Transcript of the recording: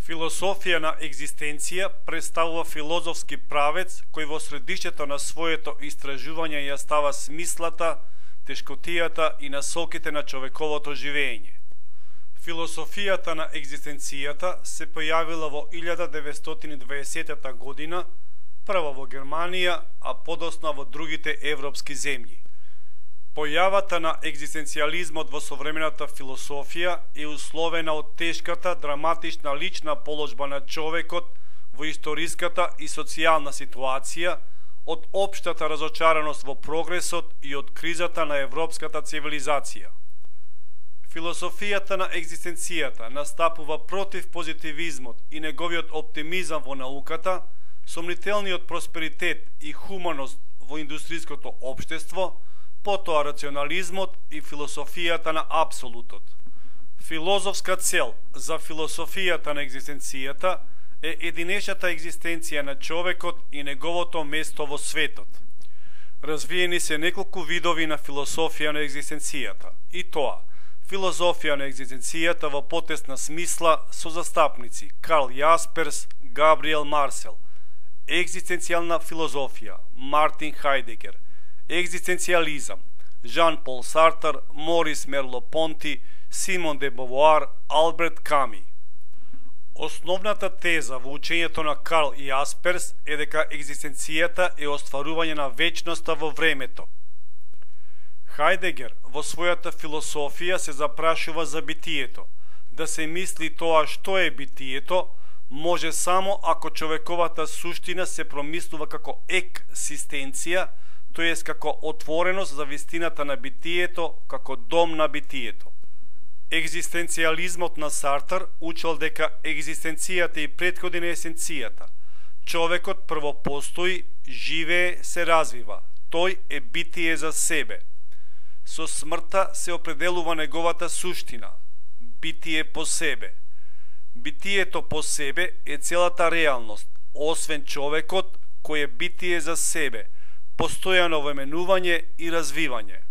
Философија на екзистенција представува филозофски правец кој во средиштето на своето истражување ја става смислата, тешкотијата и насоките на човековото живење. Философијата на екзистенцијата се појавила во 1920 година, прво во Германија, а подоцна во другите европски земји. Појавата на екзистенцијализмот во современата философија е условена од тешката, драматична лична положба на човекот во историската и социјална ситуација, од општата разочараност во прогресот и од кризата на европската цивилизација. Философијата на екзистенцијата настапува против позитивизмот и неговиот оптимизам во науката, сомнителниот просперитет и хуманост во индустриското општество, потоа рационализмот и философијата на апсолутот. Филозофска цел за философијата на екзистенцијата е единечната екзистенција на човекот и неговото место во светот. Развиени се неколку видови на философија на екзистенцијата, и тоа филозофија на екзистенцијата во потесна смисла со застапници Карл Јасперс, Габриел Марсел, екзистенцијална филозофија Мартин Хајдегер, екзистенцијализам Жан-Пол Сартар, Морис Мерло-Понти, Симон де Бовуар, Алберт Ками. Основната теза во учењето на Карл Јасперс е дека екзистенцијата е остварување на вечноста во времето. Хајдегер во својата философија се запрашува за битието. Да се мисли тоа што е битието, може само ако човековата суштина се промислува како ексистенција, тоест како отвореност за вистината на битието, како дом на битието. Екзистенцијализмот на Сартар учел дека екзистенцијата и претходи на есенцијата. Човекот прво постои, живее, се развива. Тој е битие за себе. Со смртта се определува неговата суштина, битие по себе. Битието по себе е целата реалност, освен човекот кој е битие за себе, постојано воменување и развивање.